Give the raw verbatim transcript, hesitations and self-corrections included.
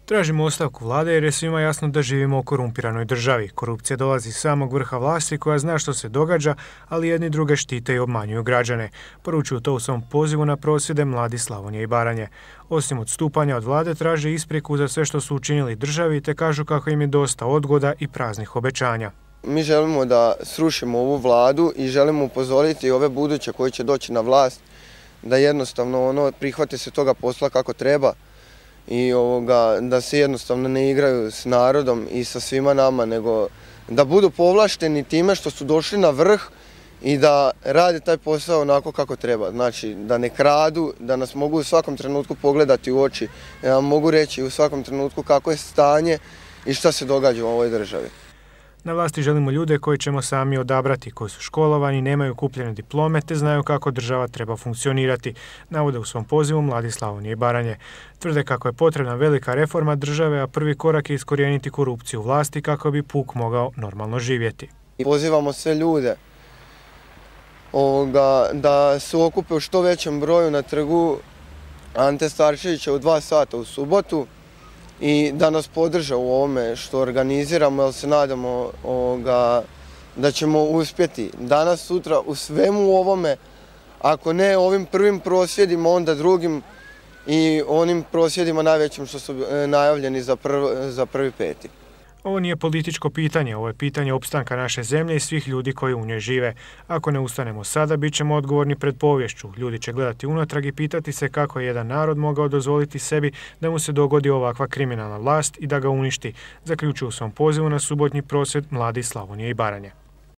Tražimo ostavku vlade jer je svima jasno da živimo u korumpiranoj državi. Korupcija dolazi iz samog vrha vlasti koja zna što se događa, ali jedni druge štite i obmanjuju građane. Poručuju to u svom pozivu na prosvjede Mladi Slavonije i Baranje. Osim odstupanja od vlade traže ispriku za sve što su učinili državi te kažu kako im je dosta odgoda i praznih obećanja. Mi želimo da srušimo ovu vladu i želimo upozoriti ove buduće koji će doći na vlast da jednostavno ono prihvate se toga posla kako treba i ovoga, da se jednostavno ne igraju s narodom i sa svima nama, nego da budu povlašteni time što su došli na vrh i da rade taj posao onako kako treba. Znači da ne kradu, da nas mogu u svakom trenutku pogledati u oči, da nam mogu reći u svakom trenutku kako je stanje i šta se događa u ovoj državi. Na vlasti želimo ljude koji ćemo sami odabrati, koji su školovani, nemaju kupljene diplome te znaju kako država treba funkcionirati, navode u svom pozivu Mladi Slavonije i Baranje. Tvrde kako je potrebna velika reforma države, a prvi korak je iskorijeniti korupciju u vlasti kako bi puk mogao normalno živjeti. Pozivamo sve ljude ovoga, da se okupe u što većem broju na trgu Ante Starčevića u dva sata u subotu i da nas podrže u ovome što organiziramo, jer se nadamo ovoga, da ćemo uspjeti danas, sutra u svemu ovome, ako ne ovim prvim prosvjedima, onda drugim i onim prosvjedima najvećim što su najavljeni za, prv, za prvi peti. Ovo nije političko pitanje, ovo je pitanje opstanka naše zemlje i svih ljudi koji u njoj žive. Ako ne ustanemo sada, bit ćemo odgovorni pred poviješću. Ljudi će gledati unatrag i pitati se kako je jedan narod mogao dozvoliti sebi da mu se dogodi ovakva kriminalna vlast i da ga uništi, zaključuju u svom pozivu na subotnji prosvjed Mladi Slavonije i Baranje.